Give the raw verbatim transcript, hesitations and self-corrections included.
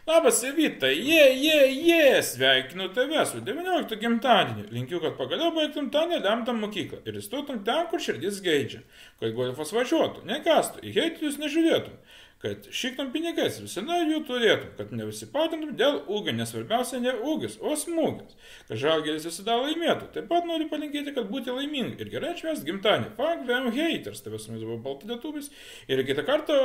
Labas, Evita, jie, jie, jie, sveikinu tave su devynioliktu gimtadieniu. Linkiu, kad pagaliau baigtum tą nelemtą mokyklą ir įstotum ten, kur širdis geidžia. Kad golfas važiuotų, nekastų, į heitelius nežiūrėtum. Kad šiktum pinigais visada jų turėtum, kad nevisipatintum dėl ūgio, nes svarbiausia ne ūgis, o smūgis. Kad žalgeris visada laimėtų. Taip pat noriu palinkėti, kad būti laimingi ir gerai atšvęsti gimtadienį. Fuck them haters, tavęs su mumis buvo baltadėtumis. Ir kitą kartą...